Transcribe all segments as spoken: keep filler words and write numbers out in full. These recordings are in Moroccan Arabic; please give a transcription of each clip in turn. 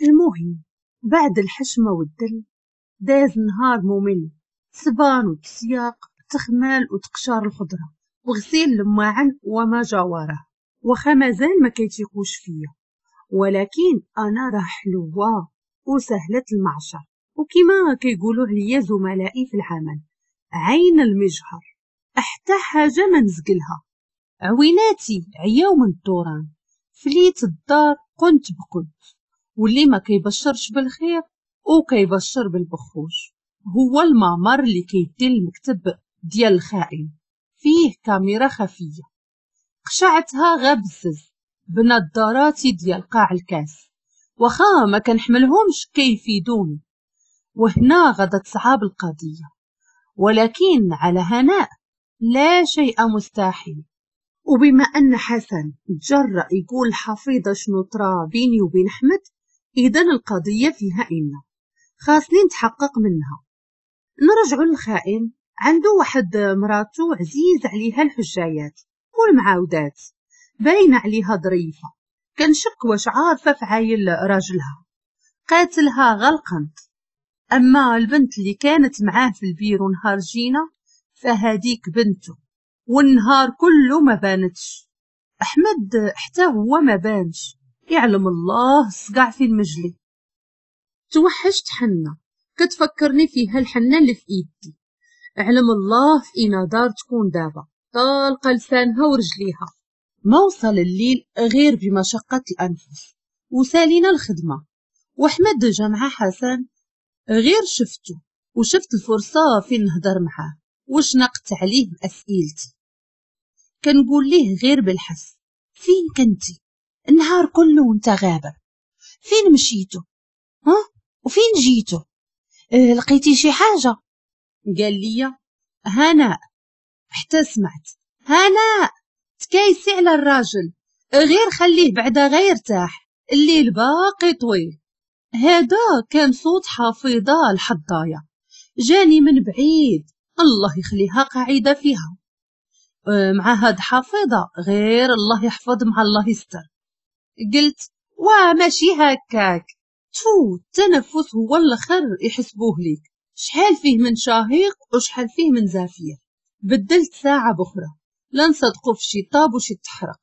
المهم بعد الحشمة والدل داز نهار ممل، صبان وتسياق، تخمال وتقشار الخضرة وغسيل الماعن وما جاوره. واخا مازال ما كيتيقوش فيا، ولكن انا راه حلوة وسهلة المعشر، وكما كيقولوا عليا زملائي في العمل عين المجهر، حتى حاجة ما نزقلها. عويناتي عياو من الدوران، فليت الدار قنت بقنت، واللي ما كيبشرش بالخير وكيبشر بالبخوش هو المعمر اللي كيدير المكتب ديال الخائن، فيه كاميرا خفيه قشعتها غبزز بنظاراتي ديال قاع الكاس، واخا ما كنحملهمش كيفيدوني. وهنا غدا تصعب القضية، ولكن على هناء لا شيء مستحيل. وبما ان حسن تجرأ يقول حفيظة شنو طرا بيني وبين احمد، اذا القضية فيها ان خاصني نتحقق منها. نرجعوا للخائن، عنده واحد مراتو عزيز عليها الحجايات والمعاودات، باينة عليها ظريفة، كنشك واش عارفه فعايل راجلها، قاتلها غلقنت. اما البنت اللي كانت معاه في البيرو نهار جينا فهاديك بنته، والنهار كله ما بانتش. احمد حتى هو ما بانش، يعلم الله صقع في المجلي. توحشت حنة كتفكرني فيها الحنة اللي في ايدي، اعلم الله في اين دار تكون دابا طالقه لسانها ورجليها. ما وصل الليل غير بمشقة الانفس وسالينا الخدمة، واحمد جا مع حسن. غير شفته وشفت الفرصة فين نهضر معاه وشنقت عليه باسئلتي. كنقول ليه غير بالحس، فين كنتي النهار كله وانت غابر؟ فين مشيتو؟ ها وفين جيتو؟ اه لقيتي شي حاجة؟ قال لي هناء. حتى سمعت هناء تكايسي على الراجل، غير خليه بعدا غير ارتاح، الليل باقي طويل. هذا كان صوت حفيظة الحضايه جاني من بعيد، الله يخليها قاعدة فيها. مع هاد حفيظة غير الله يحفظ مع الله يستر. قلت وا ماشي هكاك، تو التنفس هو الاخر يحسبوه ليك، شحال فيه من شهيق وشحال فيه من زفير. بدلت ساعة بخرى لا نصدقوا في شي طاب وشي تحرق.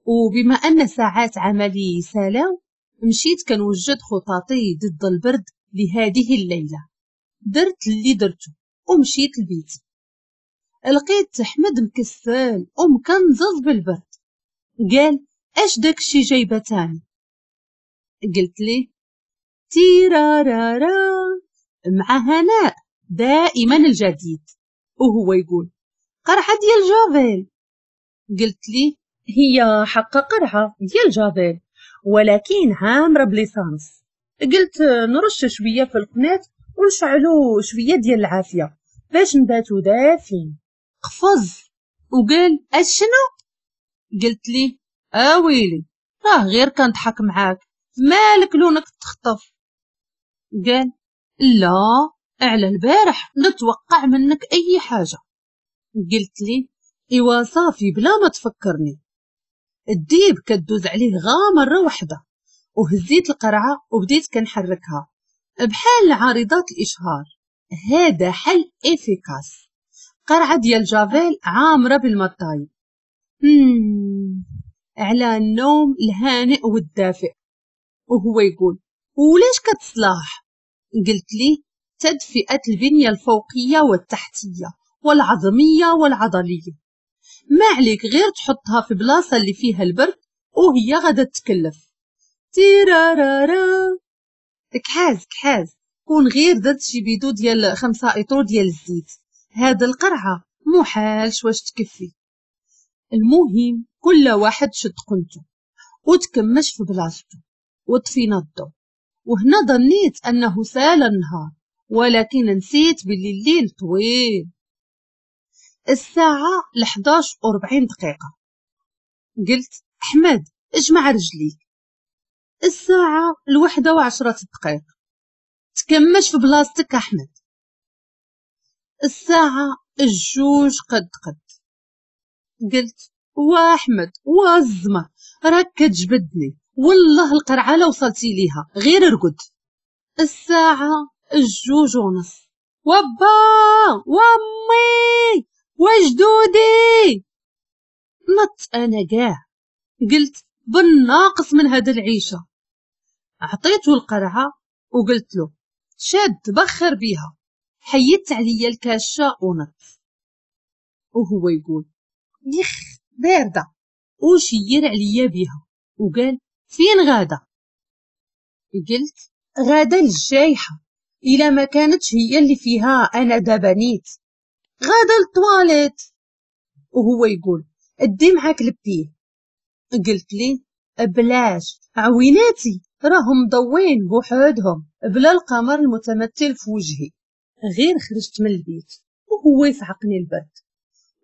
وبما ان ساعات عملي سالاو مشيت كنوجد خطاطي ضد البرد لهذه الليلة. درت اللي درته ومشيت لبيتي، لقيت احمد مكسل ومكنزز بالبرد. قال اش داكشي جايبه تاني؟ قلت ليه تيرارارا مع هناء دائما الجديد. وهو يقول قرعه ديال جافيل. قلت ليه هي حق قرعه ديال جافيل ولكن عامرة ب l'essence. قلت نرش شوية في القناة ونشعلو شوية ديال العافية باش نباتو دافين. قفز وقال اشنو؟ قلت ليه اويلي راه غير كنضحك معاك، مالك لونك تخطف؟ قال لا على البارح نتوقع منك اي حاجة. قلت لي ايوا صافي بلا ما تفكرني. الديب كدوز عليه غا مرة واحدة. وهزيت القرعة وبديت كنحركها بحال عارضات الاشهار. هذا حل efficace، قرعه ديال جافيل عامرة بالمطايب. مم. على النوم الهانئ والدافئ. وهو يقول ولاش كتصلاح؟ قلت لي تدفئه البنية الفوقية والتحتيه والعظميه والعضليه، ما عليك غير تحطها في بلاصة اللي فيها البرد وهي غادا تكلف. تيرارارا كحاز كحاز، كون غير درت شي بيدو ديال خمسة ايطرو ديال الزيت، هاد القرعة محالش واش تكفي. المهم كل واحد شد قنته وتكمش في بلاصتو وطفينا الضو. وهنا ظنيت انه سال النهار، ولكن نسيت باللي الليل طويل. الساعة الحداش وربعين دقيقة. قلت أحمد اجمع رجليك. الساعة الوحدة وعشرة دقائق. تكمش في بلاصتك أحمد. الساعة الجوج قد قد. قلت واحمد والزمر راك كتجبدني والله القرعة لو وصلتي ليها غير ارقد. الساعة الجوج ونص. وبا وامي وجدودي. نط انا كاع، قلت بالناقص من هاد العيشة. عطيته القرعة وقلت له شاد بخر بيها، حيدت عليا الكاشة ونط. وهو يقول يخ باردة، وشير عليا بيها وقال فين غاده؟ قلت غاده للجايحه، الا ما كانتش هي اللي فيها انا دابا نيت، غاده للطواليت. وهو يقول ادي معاك لبيه. قلت ليه بلاش، عويناتي راهم مضوين بوحدهم بلا القمر المتمثل في وجهي. غير خرجت من البيت وهو يصعقني البرد،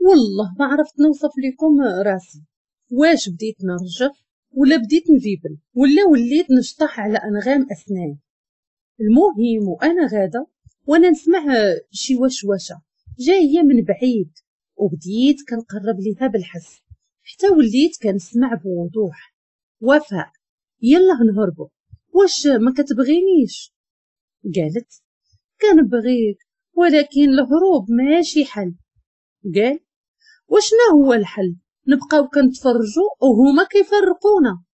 والله ما عرفت نوصف لكم راسي، واش بديت نرجف ولا بديت نفيبل ولا وليت نشطح على انغام اسناني. المهم وانا غاده وانا نسمع شي وشوشه جاية من بعيد، وبديت كنقرب ليها بالحس حتى وليت كنسمع بوضوح. وفاء يلا نهربوا، واش ما كتبغينيش؟ قالت كنبغيك ولكن الهروب ماشي حل. قال وشنا هو الحل؟ نبقاو كنتفرجوا وهما كيفرقونا.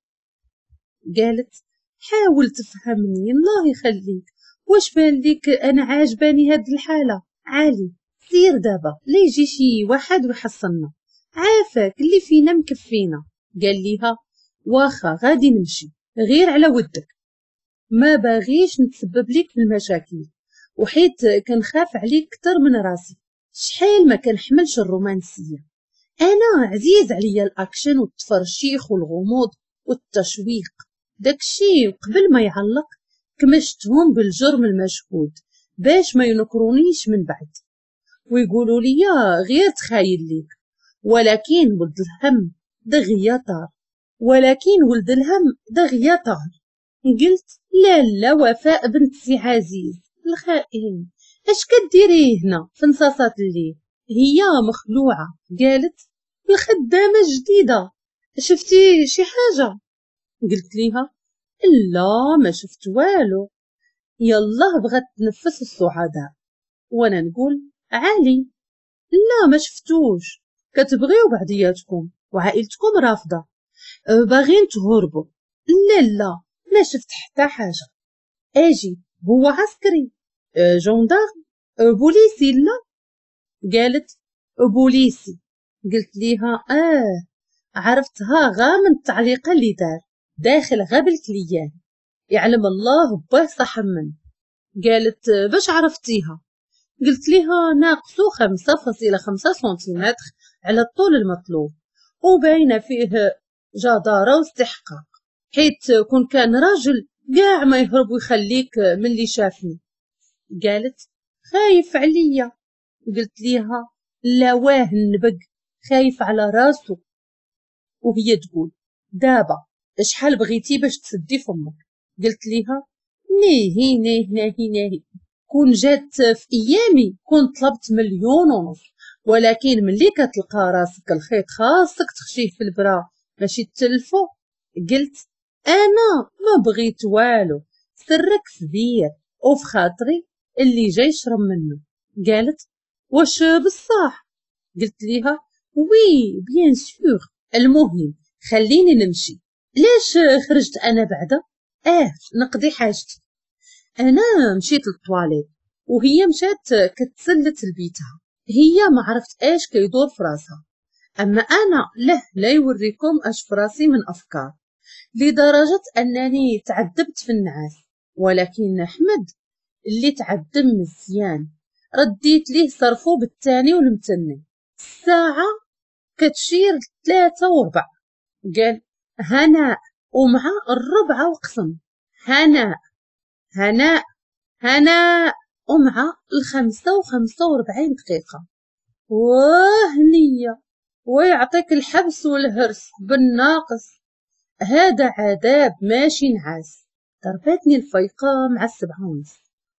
قالت حاول تفهمني الله يخليك، واش بان ليك انا عاجباني هاد الحالة؟ عالي سير دابا لا يجي شي واحد ويحصلنا، عافاك اللي فينا مكفينا. قال ليها واخا غادي نمشي غير على ودك، ما باغيش نتسبب ليك في المشاكل، وحيت كنخاف عليك كتر من راسي. شحال ما كنحملش الرومانسية، انا عزيز عليا الاكشن والتفرشيخ والغموض والتشويق، داكشي قبل ما يعلق كمشتهم بالجرم المشهود باش ما ينكرونيش من بعد ويقولوا لي غير تخايل ليك. ولكن ولد الهم دغيا طار، ولكن ولد الهم دغيا طار. قلت لا لا وفاء بنت سي عزيز الخائن، اش كديري هنا في نصاصات الليل؟ هي مخلوعه قالت الخدامة الجديدة، شفتي شي حاجة؟ قلت ليها لا ما شفت والو. يلا بغات تنفس السعداء وانا نقول عالي لا ما شفتوش، كتبغيو بعضياتكم وعائلتكم رافضه باغين تهربوا. لا لا ما شفت حتى حاجة. اجي هو عسكري gendarme بوليسي؟ لا. قالت بوليسي. قلت ليها اه عرفتها غا من التعليقه اللي دار داخل غا بال client، يعلم الله باه صح من. قالت باش عرفتيها؟ قلت ليها ناقصو خمسة فاصلة خمسة سنتيمتر على الطول المطلوب، وباينه فيه جدارة واستحقاق، حيت كون كان راجل كاع ما يهرب ويخليك من اللي شافني. قالت خايف عليا. قلت ليها لا واه النبق خايف على راسو. وهي تقول دابا شحال بغيتي باش تسدي فمك؟ قلت ليها ناهي ناهي ناهي ناهي، كون جات في ايامي كون طلبت مليون ونص، ولكن ملي كتلقى راسك الخيط خاصك تخشيه في البرا ماشي تلفو. قلت انا ما بغيت والو، سرك كبير وفي خاطري اللي جاي يشرب منه. قالت واش بصح؟ قلت ليها oui bien sûr. المهم خليني نمشي. ليش خرجت انا بعدا؟ اه نقضي حاجتي. انا مشيت للطواليت وهي مشات كتسلت لبيتها، هي ما عرفت اش كيدور في راسها، اما انا له لا يوريكم اش في راسي من افكار، لدرجة انني تعذبت في النعاس. ولكن احمد اللي تعذب مزيان رديت ليه صرفو بالثاني والمتني. الساعة كتشير ثلاثة وربع. قال هناء، ومع الربعه وقسم هناء هناء هناء، ومع الخمسة وخمسة وربعين دقيقة. وهنية ويعطيك الحبس والهرس بالناقص، هذا عذاب ماشي نعاس. ضربتني الفيقة مع السبعة ونص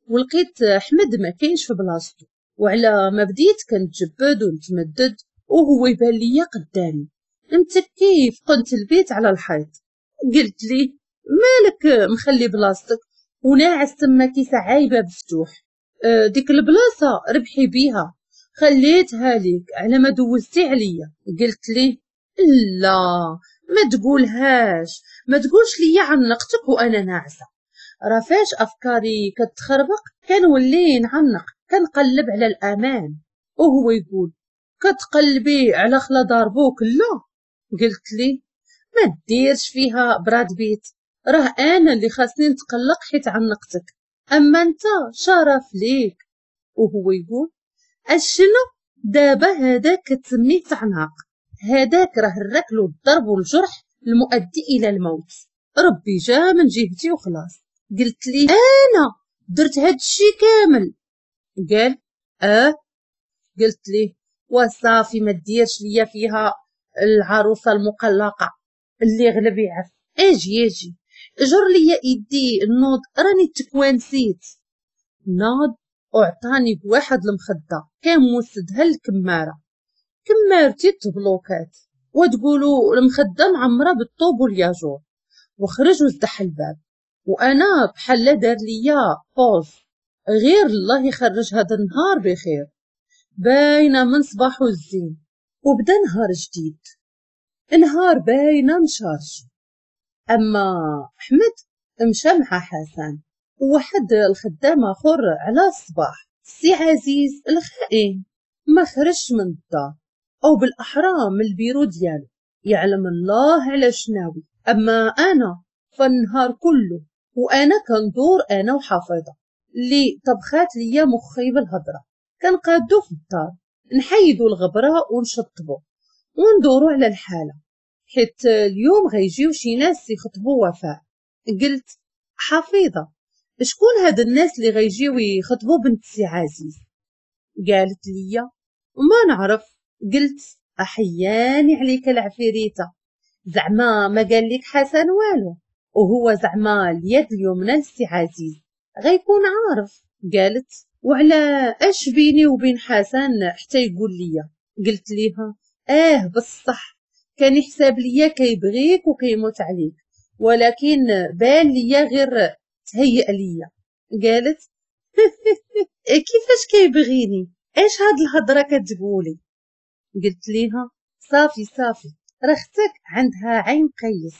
ولقيت أحمد ما كاينش في بلاصتو، وعلى ما بديت كنتجبد ونتمدد وهو يبان ليا قدامي متكي في قنت البيت على الحيط. قلت لي مالك مخلي بلاصتك وناعس تما كيس عايبه بفتوح، ديك البلاصة ربحي بيها، خليتها ليك على ما دوزتي عليا. قلت لي لا ما تقولهاش، ما تقولش ليا عنقتك وانا ناعسه، راه فاش افكاري كتخربق كنولي نعنق، كنقلب على الامان. وهو يقول كتقلبي على خلا ضربوك؟ لا. قلت لي ما ديرش فيها براد بيت، راه انا اللي خاصني نتقلق حيت عنقتك، اما انت شرف ليك. وهو يقول اشنو دابا هذاك كتسميه تعناق؟ هذاك راه الركل والضرب والجرح المؤدي الى الموت، ربي جا من جهتي وخلاص. قلت لي انا درت هاد الشي كامل؟ قال اه. قلت لي وصافي ما ديرش ليا فيها العروسة المقلقه اللي غلب يعف، اجي اجي جر ليا ايدي النوض راني تكوانسيت. ناض وعطاني بواحد المخدة كان موسدها الكماره، كمارتي تبلوكات وتقولوا المخدة معمره بالطوب والياجور. وخرج وزدح الباب وانا بحال دار ليا pause، غير الله يخرج هذا النهار بخير، باينة من صباحو الزين. وبدا نهار جديد، نهار باينة مشارج. اما احمد مشى مع حسن وواحد الخدام اخر على الصباح. سي عزيز الخائن ما خرجش من الدار، او بالاحرى من البيرو ديالو، يعلم الله على شناوي. اما انا فالنهار كله وانا كندور انا وحفيظه اللي طبخات ليا مخي بالهضره، كنقادو في الدار، نحيدو الغبرة ونشطبو وندورو على الحالة، حيت اليوم غيجيو شي ناس يخطبوا وفاء. قلت حفيظة شكون هاد الناس اللي غيجيو يخطبوا بنت سي عزيز؟ قالت لي ما نعرف. قلت احياني عليك العفريته، زعما ما قال لك حسن والو، وهو زعما اليد اليمنى لسي عزيز غيكون عارف. قالت وعلى اش بيني وبين حسن حتى يقول لي؟ قلت ليها اه بصح كان يحسب ليا كيبغيك وكيموت عليك، ولكن بان ليا غير تهيأ ليا. قالت كيفاش كيبغيني؟ اش هاد الهضرة كتقولي؟ قلت ليها صافي صافي، راه اختك عندها عين قيس،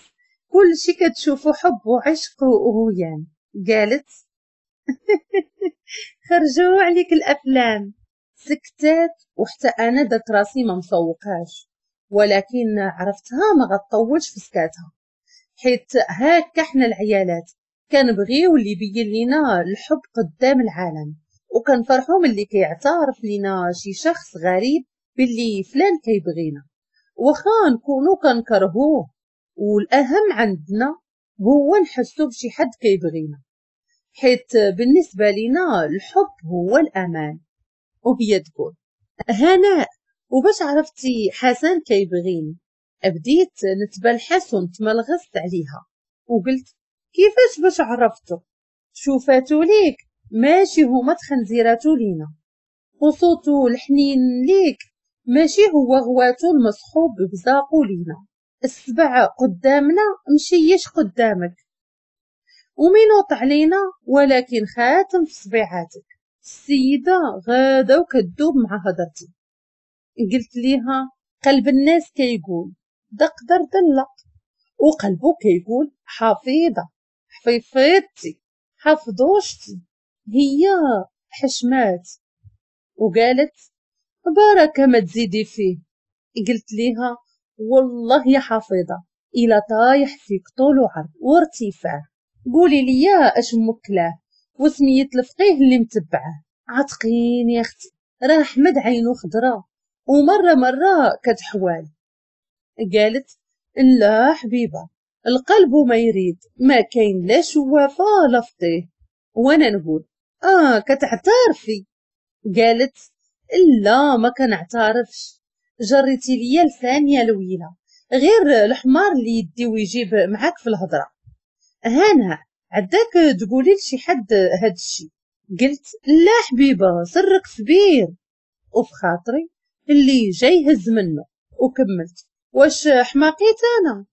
كلشي كتشوفو حب وعشق وهيام. قالت خرجوا عليك الافلام. سكتات وحتى انا درت راسي ما مسوقاش، ولكن عرفتها ما غطولش في سكاتها، حيت هاكا حنا العيالات كنبغيو اللي يبين لينا الحب قدام العالم، وكنفرحو ملي كيعترف لينا شي شخص غريب باللي فلان كيبغينا، واخا نكونو كنكرهوه. والاهم عندنا هو نحسو بشي حد كيبغينا، حيت بالنسبة لينا الحب هو الامان. وهي تقول هناء وباش عرفتي حسن كيبغيني؟ بديت نتبلحس ونتملغست عليها وقلت كيفاش باش عرفتو؟ شوفاتو ليك ماشي هما تخنزيراتو لينا، وصوتو الحنين ليك ماشي هو غواتو المصحوب بزاقو لينا، السبع قدامنا مشيش قدامك، ومينوط علينا ولكن خاتم في صبيعاتك. السيدة غاده وكدوب مع هضرتي. قلت ليها قلب الناس كيقول دق در دلق، وقلبو كيقول حفيظة حفيفيتي حفظوشتي. هي حشمات وقالت بركة ما تزيدي فيه. قلت ليها والله يا حفيظة الى طايح فيك طول وعرض وارتفاع، قولي ليا اش مكلاه وسميت الفقيه اللي متبعة. عتقيني يا اختي راه احمد عينو خضرا ومرة مرة كتحوال. قالت لا حبيبه القلب ما يريد، ما كاين لا شوافه لا فقيه. وانا نقول اه كتعترفي؟ قالت لا ما كنعترفش، جريتي ليا لسانيه الويله، غير الحمار اللي يدي ويجيب معاك في الهضرة. هانا عداك تقولي لشي حد هاد الشي؟ قلت لا حبيبه سرك كبير. وفي خاطري اللي جاي يهز منه. وكملت واش حماقيت انا؟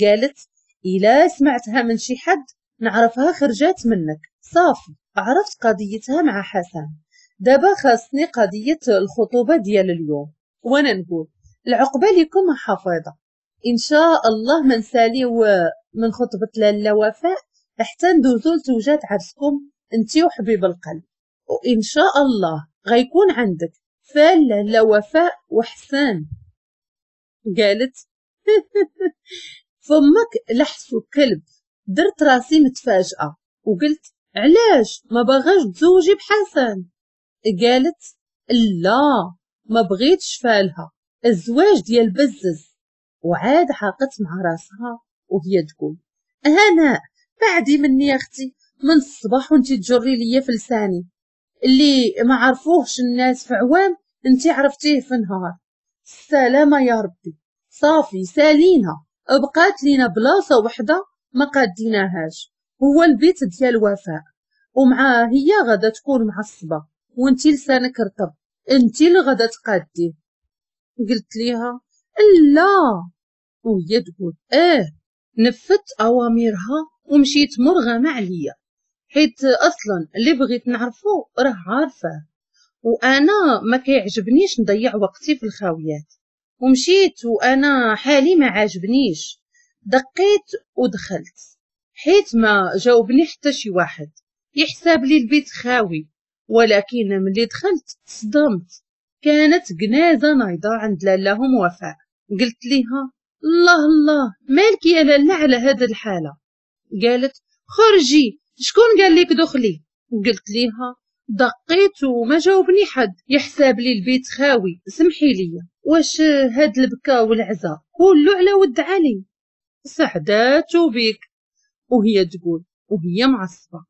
قالت إلا سمعتها من شي حد نعرفها خرجات منك. صافي عرفت قضيتها مع حسن، دابا خاصني قضية الخطوبة ديال اليوم. وانا نقول العقبة لكم حفيظة، ان شاء الله ما نساليو من خطبة لاله وفاء حتى ندوزو لتوجات عرسكم انتي وحبيب القلب، وان شاء الله غيكون عندك فال لاله وفاء وحسان. قالت فمك لحسو كلب. درت راسي متفاجئة وقلت علاش ما باغاش تزوجي بحسن؟ قالت لا ما بغيتش فالها، الزواج ديال بزز. وعاد حاقت مع راسها وهي تقول هناء بعدي مني يا اختي، من الصباح وانتي تجري ليا في لساني اللي ما عرفوهش الناس في عوام انتي عرفتيه في نهار. السلامة يا ربي، صافي سالينا، بقات لينا بلاصة وحده ما قاديناهاش، هو البيت ديال وفاء، ومع هي غادا تكون معصبة وانتي لسانك رطب، انتي اللي غادا تقاديه. قلت ليها لا، وهي تقول اه. نفذت اوامرها ومشيت مرغمه عليا، حيت اصلا اللي بغيت نعرفو راه عارفه، وانا ما كيعجبنيش نضيع وقتي في الخاويات. ومشيت وانا حالي ما عاجبنيش، دقيت ودخلت حيت ما جاوبني حتى شي واحد، يحسب لي البيت خاوي. ولكن ملي دخلت تصدمت، كانت جنازه نايضه عند لالاهم وفاء. قلت ليها الله الله مالك يا لاله على هذه الحالة؟ قالت خرجي، شكون قال لك دخلي؟ قلت ليها دقيت وما جاوبني حد، يحسب لي البيت خاوي، سمحي لي. واش هاد البكا والعزا كله على ود علي؟ سعداتو بيك. وهي تقول وهي معصبة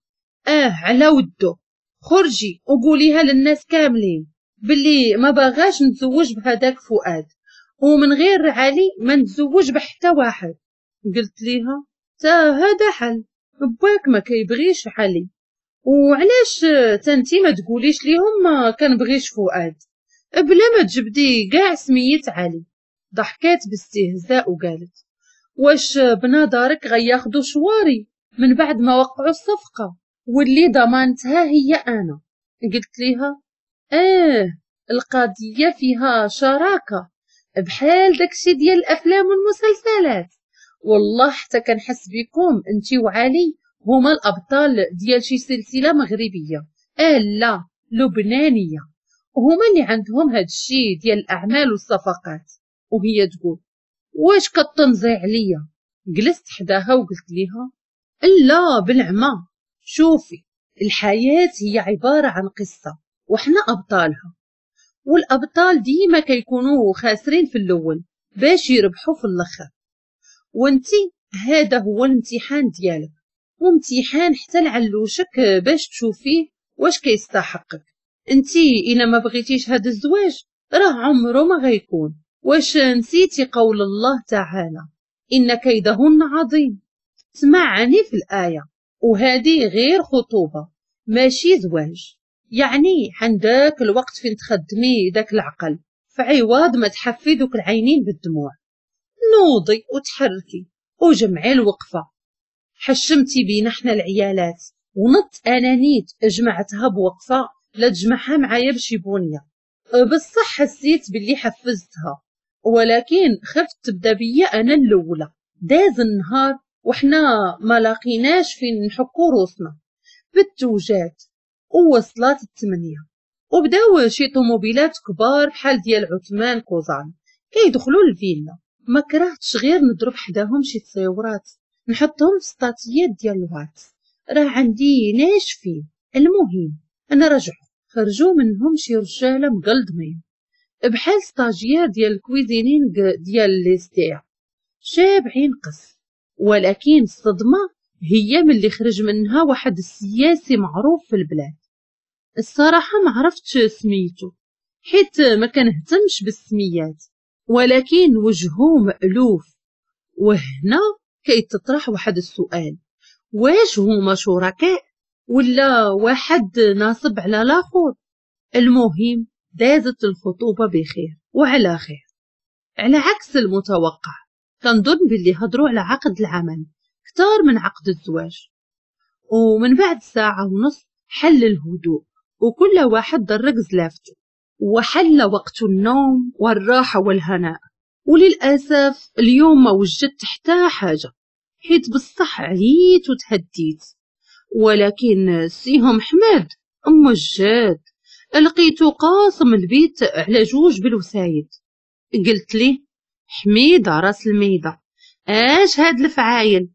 اه على ودو، خرجي وقوليها للناس كاملين باللي ما باغاش نتزوج بهداك فؤاد، ومن غير علي ما نتزوج بحتى واحد. قلت ليها تا هذا حل، باك ما كيبغيش علي، وعلاش تنتي ما تقوليش ليهم ما كنبغيش فؤاد بلا ما تجبدي كاع سميت علي؟ ضحكات باستهزاء وقالت واش بنظرك غياخدو شواري من بعد ما وقعوا الصفقة واللي ضمانتها هي انا؟ قلت ليها اه القضية فيها شراكة بحال داكشي ديال الافلام والمسلسلات، والله حتى كنحس بكم انتي وعلي هما الابطال ديال شي سلسلة مغربية، اه لا لبنانية، هما اللي عندهم هاد الشي ديال الاعمال والصفقات. وهي تقول واش كطنزي عليا؟ جلست حداها وقلت ليها لا بالعمى، شوفي الحياة هي عبارة عن قصة وحنا ابطالها، والابطال ديما كيكونوا خاسرين في الاول باش يربحوا في الاخر، وانتي هذا هو الامتحان ديالك، وامتحان حتى لعلوشك باش تشوفيه واش كيستحقك. انتي الا ما بغيتيش هذا الزواج راه عمره ما غيكون. واش نسيتي قول الله تعالى ان كيدهن عظيم؟ سمعني في الايه، وهذه غير خطوبه ماشي زواج، يعني عندك الوقت فين تخدمي داك العقل فعوض ما تحفي دوك العينين بالدموع. نوضي وتحركي وجمعي الوقفة، حشمتي بينا حنا العيالات، ونط انا نيت جمعتها بوقفه لا تجمعها معايا بشي بونيه. بصح حسيت باللي حفزتها، ولكن خفت تبدا بيا انا الاولى. داز النهار وحنا ما لاقيناش فين نحكو روسنا بالتوجات، ووصلات الثمانية وبداو شي طوموبيلات كبار بحال ديال عثمان كوزان كيدخلوا الفيلا. ما كرهتش غير نضرب حداهم شي تصيورات نحطهم في ستاتيات ديال الواتس، راه عندي ناشفين. المهم انا رجعوا خرجوا منهم شي رجاله مقلدمين بحال stagiaire ديال ال cuisinier ديال l'ISTA، شابعين قص. ولكن الصدمة هي ملي خرج منها واحد السياسي معروف في البلاد. الصراحة ما عرفتش سميتو حيت ما كنهتمش بالسميات، ولكن وجهه مألوف. وهنا كيتطرح واحد السؤال، واش هما شركاء ولا واحد ناصب على الاخر؟ المهم دازت الخطوبة بخير وعلى خير، على عكس المتوقع. كنظن باللي هضروا على عقد العمل كتار من عقد الزواج. ومن بعد ساعة ونص حل الهدوء وكل واحد درق زلافته، وحل وقت النوم والراحة والهناء. وللأسف اليوم ما وجدت حتى حاجة، حيت بصح عييت وتهديت، ولكن سيهم حمد موجد لقيتو قاسم البيت على جوج بالوسايد. قلت ليه حميدة راس الميدة، اش هاد الفعايل؟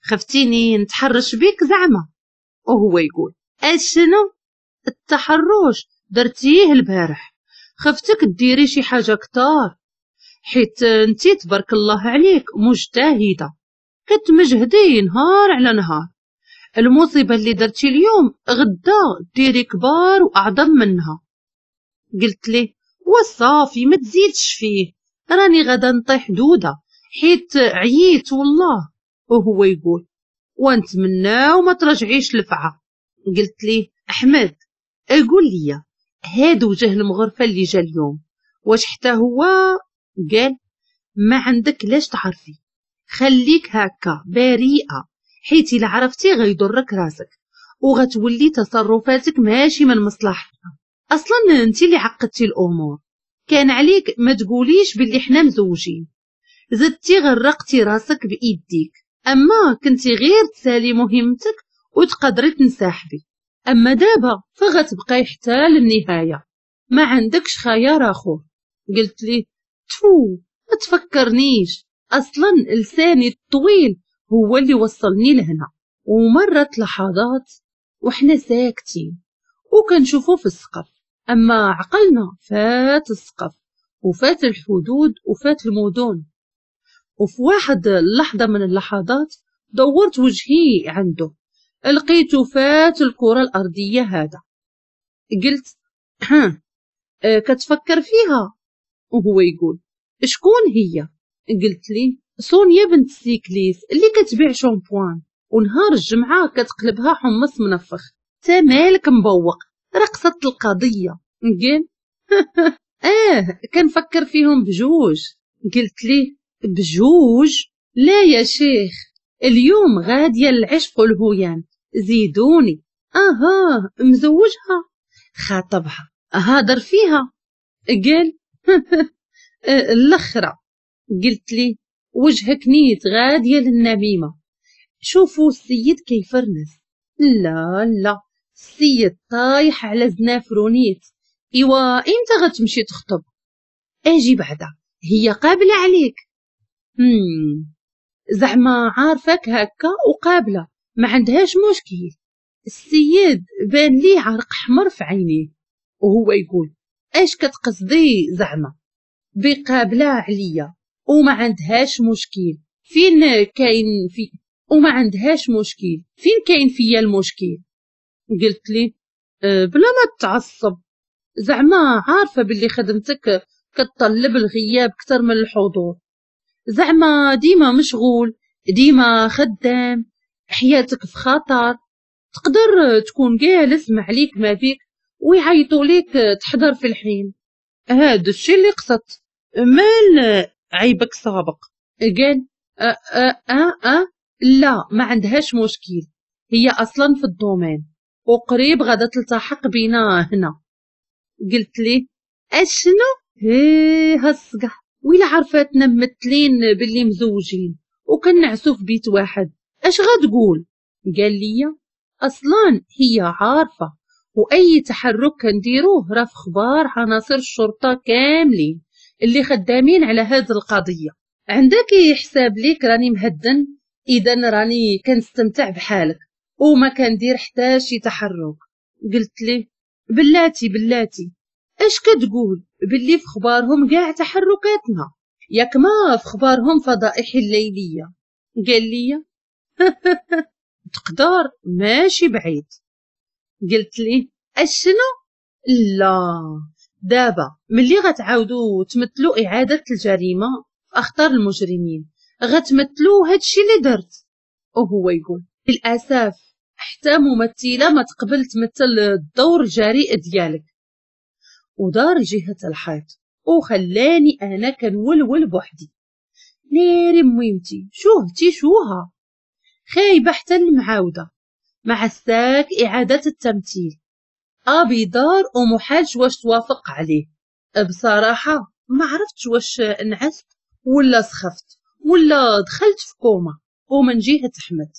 خفتيني نتحرش بيك زعما؟ وهو يقول اشنو التحرش درتيه البارح، خفتك ديري شي حاجة كتار، حيت انتي تبارك الله عليك مجتهدة كتمجهدي نهار على نهار. المصيبة اللي درتي اليوم غدا ديري كبار وأعظم منها. قلت ليه وصافي ما تزيدش فيه، راني غدا نطيح دودة حيت عييت والله. وهو يقول ونتمناو ما ترجعيش لفعة. قلت ليه أحمد قول لي هاد وجه المغرفة اللي جا اليوم واش حتى هو؟ قال ما عندك لاش تعرفي، خليك هكا بريئة، حيت إلا عرفتي غيضرك راسك وغتولي تصرفاتك ماشي من مصلحتنا. اصلا انت اللي عقدتي الامور، كان عليك ما تقوليش باللي حنا مزوجين، زدتي غرقتي راسك بايديك، اما كنتي غير تسالي مهمتك وتقدري تنسحبي، اما دابا فغتبقاي حتى للنهاية، ما عندكش خيار اخر. قلت ليه تفو ما تفكرنيش، اصلا لساني الطويل هو اللي وصلني لهنا. ومرت لحظات وحنا ساكتين وكنشوفو في السقف، اما عقلنا فات السقف وفات الحدود وفات المدن. وفي واحد اللحظة من اللحظات دورت وجهي عنده لقيته فات الكرة الأرضية هذا. قلت ها كتفكر فيها؟ وهو يقول شكون هي؟ قلت لي سونيا بنت السيكليس اللي كتبيع شامبوان ونهار الجمعة كتقلبها حمص منفخ، تا مالك مبوق رقصت القضية. قال اه كنفكر فيهم بجوج. قلت ليه بجوج؟ لا يا شيخ، اليوم غادية العشق والهيام، زيدوني. اها مزوجها خاطبها هادر فيها. قال الاخرى. قلت لي وجهك نيت غادية للنميمة، شوفوا السيد كيفرنس. لا لا السيد طايح على زنافرو نيت. ايوا امتى غتمشي تخطب؟ اجي بعدا هي قابلة عليك. مم. زعما عارفك هكا وقابلة ما عندهاش مشكل. السيد بان ليه عرق حمر في عينيه وهو يقول اش كتقصدي زعما بقابلة عليا وما عندهاش مشكل؟ فين كاين في وما عندهاش مشكل، فين كاين فيا المشكل؟ قلت لي أه بلا ما تعصب، زعما عارفة باللي خدمتك كتطلب الغياب اكثر من الحضور، زعما ديما مشغول ديما خدام، حياتك في خطر، تقدر تكون جالس ما عليك ما بيك ويعيطوا ليك تحضر في الحين. هذا الشيء اللي قصدت، مال عيبك سابق. قال أه أه أه أه لا ما عندهاش مشكل، هي اصلا في ال domaine وقريب غادا تلتحق بينا هنا. قلت ليه اشنو؟ هي هالصقح، ويلا عرفاتنا ممثلين باللي مزوجين وكنعسو في بيت واحد اش غتقول؟ قال لي اصلا هي عارفه، واي تحرك كنديروه راه في خبار عناصر الشرطة كاملين اللي خدامين على هذه القضية. عندك يحساب ليك راني مهدن، اذا راني كنستمتع بحالك وما كندير حتى شي تحرك. قلت ليه بلاتي بلاتي اش كتقول باللي في خبارهم كاع تحركاتنا، ياك ما في خبارهم فضائح الليلية؟ قال لي تقدر ماشي بعيد. قلت ليه اشنو؟ لا دابا ملي غتعاودوا تمثلوا اعاده الجريمة في اخطار المجرمين غتمثلوا هادشي اللي درت. وهو يقول للاسف حتى ممثلة ما تقبل تمثل الدور الجريء ديالك. ودار جهة الحيط وخلاني انا كنولول بوحدي. ناري ميمتي شوهتي شوها، خايبة حتى المعاودة مع الساك إعادة التمثيل. أبي دار ومحالش واش توافق عليه. بصراحة ما عرفتش واش نعست ولا سخفت ولا دخلت في كوما. ومن جهة أحمد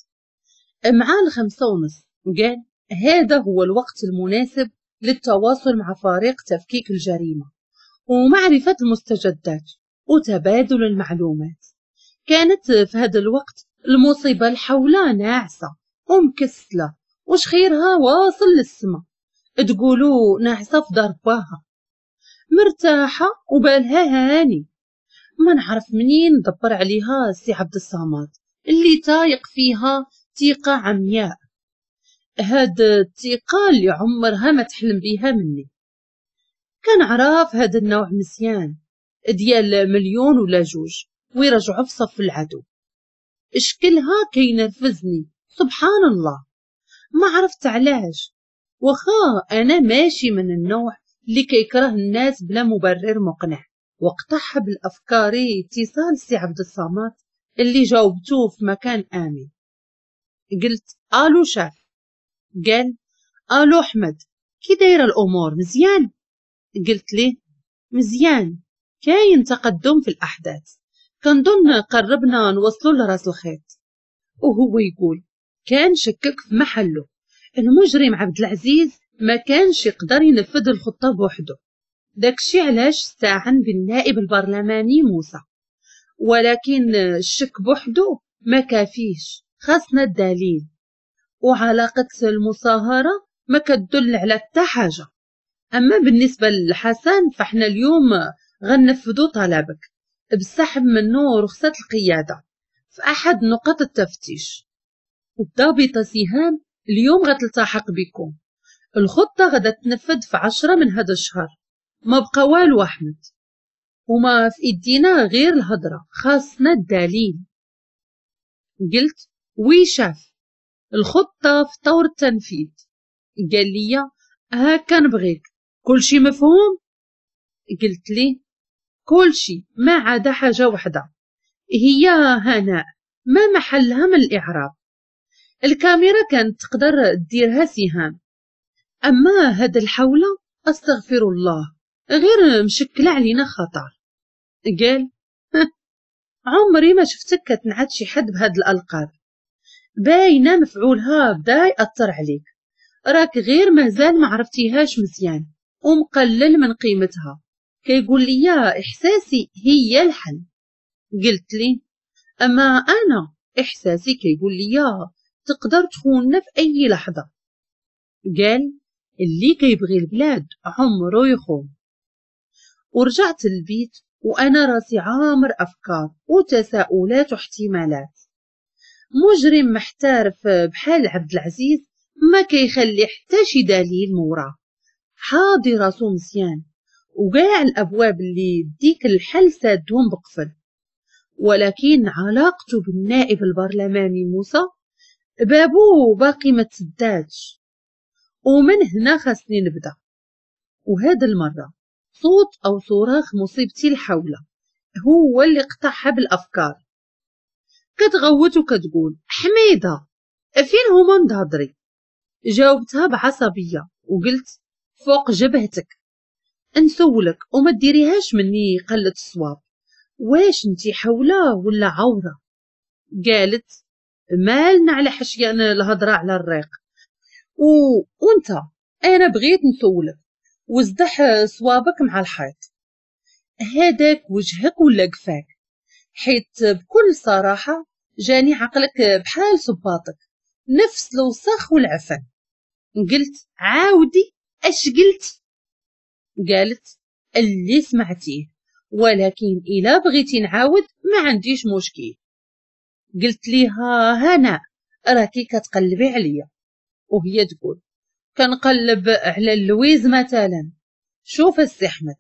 مع الخمسة ونص قال هذا هو الوقت المناسب للتواصل مع فريق تفكيك الجريمة ومعرفة المستجدات وتبادل المعلومات. كانت في هذا الوقت المصيبة الحولة ناعسة ومكسلة وشخيرها واصل للسما، تقولوا ناعسة في دار باها، مرتاحة وبالها هاني. ما نعرف منين دبر عليها سي عبد الصمد اللي تايق فيها ثقة عمياء، هاد الثقة اللي عمرها ما تحلم بيها مني. كنعرف هاد النوع مزيان ديال مليون ولا جوج ويرجعوا في صف العدو. شكلها كينرفزني سبحان الله، ما عرفت علاش. وخا انا ماشي من النوع اللي كيكره الناس بلا مبرر مقنع. وقطعها بالافكاري اتصال سي عبد الصمد اللي جاوبتوه في مكان امن. قلت الو شاف. قال الو احمد، كي دايرة الامور مزيان؟ قلت ليه مزيان، كاين تقدم في الاحداث، كنظن قربنا نوصلوا لراس الخيط. وهو يقول كان شكك في محله، المجرم عبد العزيز ما كانش يقدر ينفذ الخطة بوحده، داكشي علاش استعان بالنائب البرلماني موسى، ولكن الشك بوحده ما كافيش، خاصنا الدليل، وعلاقة المصاهرة ما كتدل على حتى حاجة. أما بالنسبة للحسن فاحنا اليوم غنفذو طلبك بسحب منه رخصة القيادة في أحد نقاط التفتيش، والضابطة سهام اليوم غتلتحق بكم، الخطة غدا تنفذ في عشرة من هذا الشهر، ما بقى والو أحمد، وما في إيدينا غير الهضرة، خاصنا الدليل. قلت oui chef، الخطة في طور التنفيذ. قال لي هاكا نبغيك، كلشي مفهوم؟ قلت لي كلشي ما عدا حاجة وحدة، هي هناء ما محلها من الإعراب. الكاميرا كانت تقدر ديرها سهام، أما هاد الحولة أستغفر الله غير مشكلة علينا خطر. قال عمري ما شفتك كتنعت شي حد بهاد الألقاب، باينة مفعولها بدا يأثر عليك، راك غير مازال ما عرفتيهاش مزيان ومقلل من قيمتها. كيقول لي إحساسي هي الحل. قلت لي أما أنا إحساسي كيقول لي تقدر تخوننا في أي لحظة. قال اللي كيبغي البلاد عمره يخون. ورجعت للبيت وأنا راسي عامر أفكار وتساؤلات واحتمالات. مجرم محترف بحال عبد العزيز ما كيخلي حتى شي دليل موراه، حاضي راسو مزيان وكاع الأبواب اللي ديك الحل سادهم بقفل. ولكن علاقته بالنائب البرلماني موسى بابو باقي ما تسداتش، ومن هنا خاصني نبدا. وهذا المرة صوت أو صراخ مصيبتي الحولة هو اللي قطعها بالأفكار. كتغوت وكتقول حميدة فين هما نضهضري؟ جاوبتها بعصبية وقلت فوق جبهتك، نسولك وما ديريهاش مني قلة الصواب، واش انتي حولة ولا عورة؟ قالت مالنا على حشيان الهضرة على الريق، و... وانت انا بغيت نسولك وزدح صوابك مع الحيط، هذاك وجهك ولا قفاك؟ حيت بكل صراحة جاني عقلك بحال صباطك، نفس الوسخ والعفن. قلت عاودي اش قلت؟ قالت اللي سمعتيه، ولكن إلا بغيتي نعاود ما عنديش مشكل. قلت ليها هنا راكي كتقلبي عليا، وهي تقول كنقلب على اللويز مثلا. شوف السي احمد،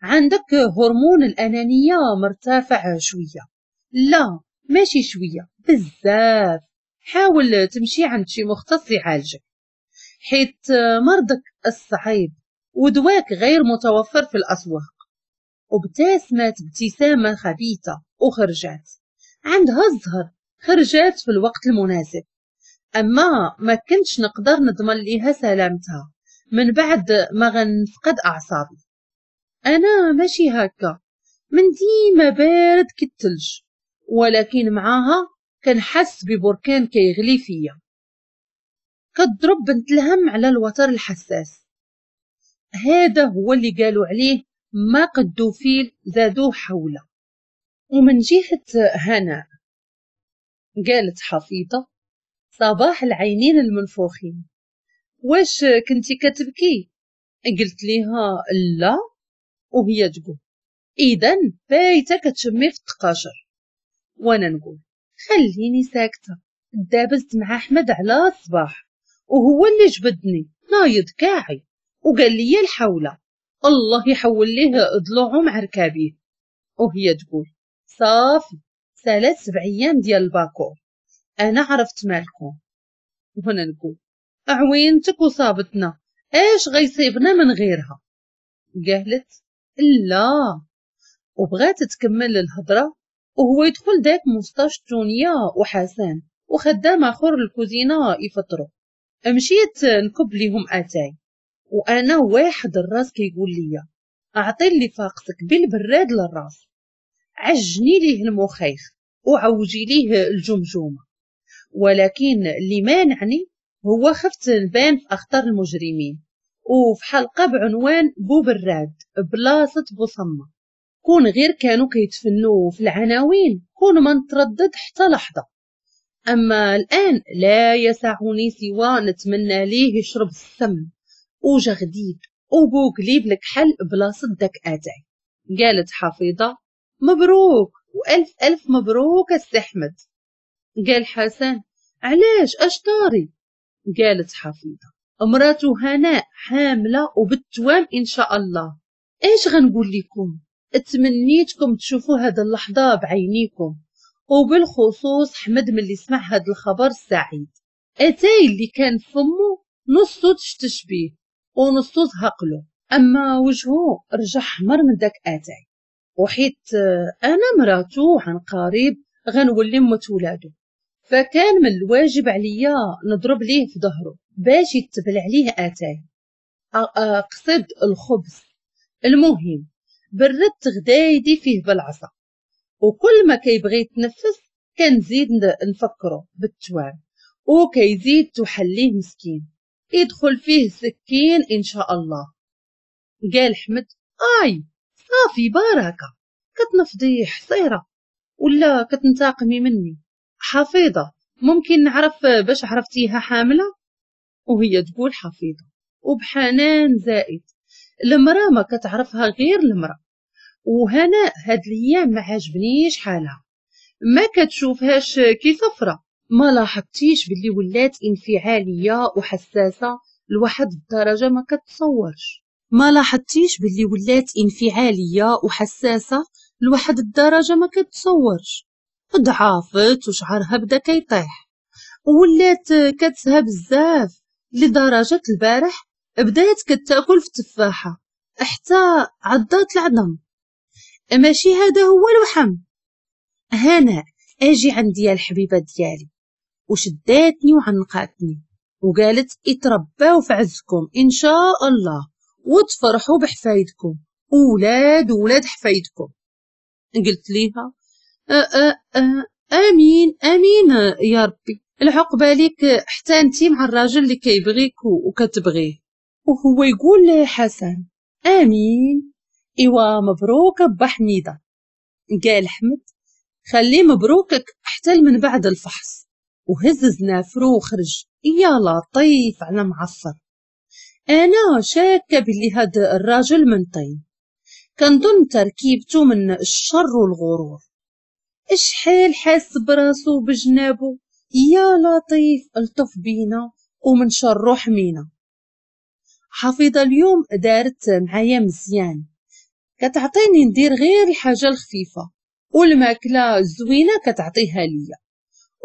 عندك هرمون الأنانية مرتفع شوية، لا ماشي شوية بزاف، حاول تمشي عند شي مختص يعالجك، حيت مرضك الصعيب ودواك غير متوفر في الأسواق. وابتسمت ابتسامة خبيثة وخرجت. عندها الزهر خرجات في الوقت المناسب، اما ما كنتش نقدر نضمن ليها سلامتها من بعد ما غنفقد اعصابي. انا ماشي هكا، من ديما بارد كالثلج، ولكن معاها كنحس ببركان كيغلي فيا. كتضرب بنت الهم على الوتر الحساس. هذا هو اللي قالوا عليه ما قدو فيل زادوه حوله. ومن جهة هناء قالت حفيظة صباح العينين المنفوخين، واش كنتي كتبكي؟ قلت ليها لا، وهي تقول اذا بايته كتشمي في التقاشر. وانا نقول خليني ساكته، دابزت مع احمد على الصباح وهو اللي جبدني نايض كاعي وقال لي الحوله، الله يحول ليه ضلوعه مع ركابيه. وهي تقول صافي سالات سبع ايام ديال الباكور، انا عرفت مالكم. وهنا نقول عوينتك وصابتنا، اش غيصيبنا من غيرها؟ قالت لا، وبغات تكمل الهضرة وهو يدخل داك مستاش تونيا وحسن وخدام اخر الكوزينة يفطروا. مشيت نكب ليهم اتاي، وانا واحد الراس كيقول لي اعطي اللي فاقتك بالبراد للراس، عجني ليه المخيخ وعوجي ليه الجمجمة. ولكن اللي مانعني هو خفت نبان في اخطر المجرمين، وفي حلقة بعنوان بو براد بلاصة بوصمة. كون غير كانوا كيتفنوا في العناوين كون ما نتردد حتى لحظة، اما الان لا يسعني سوى نتمنى ليه يشرب السم وجغديد وبوكليب الكحل بلاصة داك اتاي. قالت حفيظة مبروك والف الف مبروك السي احمد. قال حسن علاش اش طاري؟ قالت حفيظة امراته هناء حامله وبالتوام ان شاء الله. ايش غنقول لكم؟ اتمنيتكم تشوفوا هذا اللحظة بعينيكم، وبالخصوص حمد ملي سمع هذا الخبر السعيد. اتاي اللي كان فمو نصو تشتش بيه ونصو زهقلو، اما وجهه رجع حمر من داك اتاي. وحيت انا مراتو عن قريب غنولي مت ولادو، فكان من الواجب عليا نضرب ليه في ظهره باش يتبل عليه اتاي، اقصد الخبز. المهم بردت غدايدي فيه بالعصا، وكل ما كيبغي يتنفس كنزيد نفكره بالتوام، وكيزيد تحلية مسكين يدخل فيه سكين ان شاء الله. قال حمد اي صافي بركة، كتنفضي حصيره ولا كتنتقمي مني؟ حفيظة ممكن نعرف باش عرفتيها حامله؟ وهي تقول حفيظة وبحنان زائد، المراة ما كتعرفها غير المراة، وهنا هاد الايام ما عجبنيش حالها، ما كتشوفهاش كي صفرة. ما لاحظتيش باللي ولات انفعاليه وحساسه لواحد الدرجة ما كتصورش؟ ما لاحظتيش باللي ولات انفعاليه وحساسه لواحد الدرجة ما كتصورش؟ ضعافت وشعرها بدا كيطيح، ولات كتسهى بزاف لدرجة البارح بدات كتاكل في تفاحة حتى عضات العظم. ماشي هذا هو الوحم. هناء اجي عندي يا الحبيبة ديالي، وشداتني وعنقاتني وقالت اترباو في عزكم ان شاء الله وتفرحوا بحفايدكم ولاد ولاد حفايدكم. قلت ليها أ أ أ امين امين يا ربي، العقبة ليك حتى انتي مع الراجل اللي كيبغيك وكتبغيه. وهو يقول حسن امين، ايوا مبروك با حميده. قال حمد خليه مبروكك حتى من بعد الفحص، وهز زنافرو وخرج. يا لطيف على معفر، انا شاكه باللي هاد الراجل من طين، كنظن تركيبته من الشر والغرور. اشحال حاس براسو بجنابو، يا لطيف الطف بينا ومن شرو حمينا. حفيظة اليوم دارت معايا مزيان، كتعطيني ندير غير الحاجة الخفيفة والماكله الزوينة كتعطيها ليا،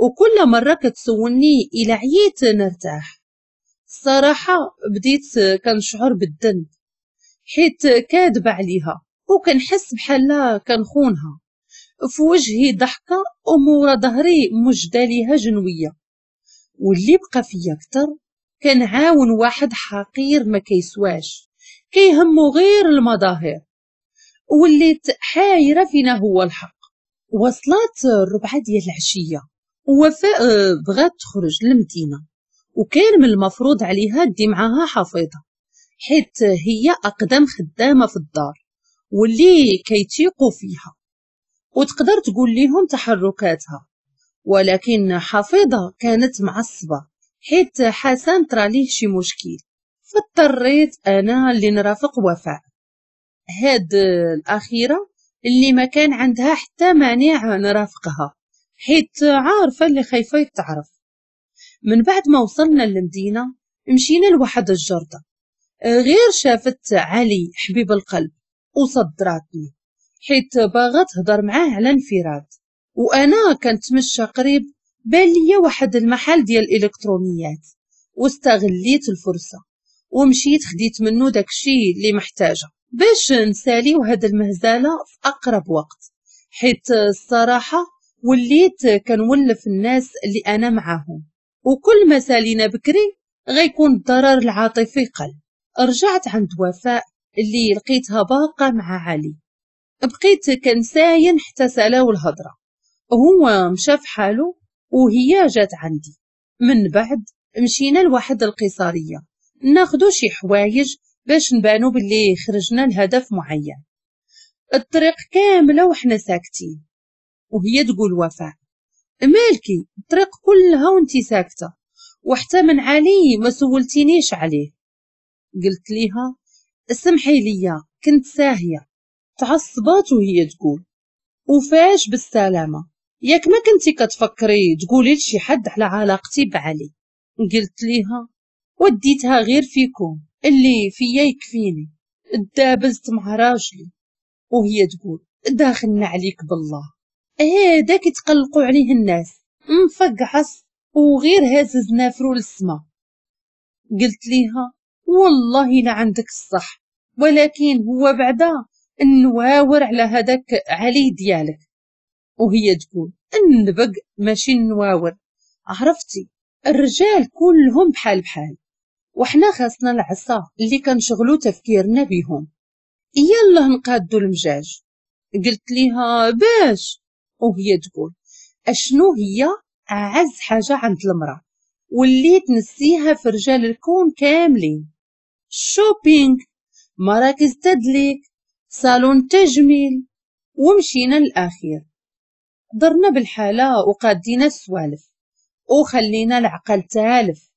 وكل مرة كتسولني الى عييت نرتاح. الصراحة بديت كنشعر بالذنب حيت كاذبة عليها وكنحس بحال كنخونها، في وجهي ضحكة ومورا ظهري مجدة ليها جنوية. واللي بقى فيا أكثر كنعاون واحد حقير ما كيسواش، كيهمو غير المظاهر. وليت حايرة فينا هو الحق. وصلت الربعة ديال العشية ووفاء بغات تخرج للمدينة، وكان من المفروض عليها دي معاها حفيظة حيت هي أقدم خدامة في الدار واللي كيتيقوا فيها وتقدر تقول لهم تحركاتها. ولكن حفيظة كانت معصبة حيت حسن طرا ليه شي مشكل، فاضطريت أنا اللي نرافق وفاء، هاد الأخيرة اللي ما كان عندها حتى مانع نرافقها حيت عارفة اللي خايفة يتعرف. من بعد ما وصلنا للمدينة مشينا لواحد الجردة، غير شافت علي حبيب القلب وصدراتني حيت باغا تهضر معاه على انفراد. وانا كنتمشى قريب بان ليا واحد المحل ديال الالكترونيات، واستغليت الفرصة ومشيت خديت منه داكشي اللي محتاجه باش نساليو هاد المهزلة في اقرب وقت، حيت الصراحة وليت كنولف الناس اللي انا معاهم، وكل ما سالينا بكري غيكون الضرر العاطفي قل. رجعت عند وفاء اللي لقيتها باقه مع علي، بقيت كنساين حتى سالاو الهضرة، هو مشى في حاله وهي جات عندي. من بعد مشينا لواحد القصاريه ناخدو شي حوايج باش نبانو باللي خرجنا لهدف معين. الطريق كاملة وحنا ساكتين، وهي تقول وفاء مالكي الطريق كلها وانتي ساكته، وحتى من علي ما سولتينيش عليه. قلت ليها سمحي ليا كنت ساهيه. تعصبات وهي تقول وفاش بالسلامة، ياك ما كنتي كتفكري تقولي لشي حد على علاقتي بعلي؟ قلت ليها وديتها غير فيكم، اللي فيا يكفيني، دابزت مع راجلي. وهي تقول داخلنا عليك بالله، هذاك يتقلقوا عليه الناس مفقعص وغير هازز نافرو للسما. قلت ليها والله لا عندك الصح، ولكن هو بعدا النواور على هذاك علي ديالك. وهي تقول النبق ماشي النواور، عرفتي الرجال كلهم بحال بحال، وحنا خاصنا العصا اللي كنشغلو تفكيرنا بيهم، يلا نقادو المجاج. قلت ليها باش؟ وهي تقول اشنو هي اعز حاجة عند المراة واللي تنسيها في رجال الكون كاملين؟ shopping، مراكز تدليك، صالون تجميل. ومشينا للاخير درنا بالحالة وقادينا السوالف وخلينا العقل تالف.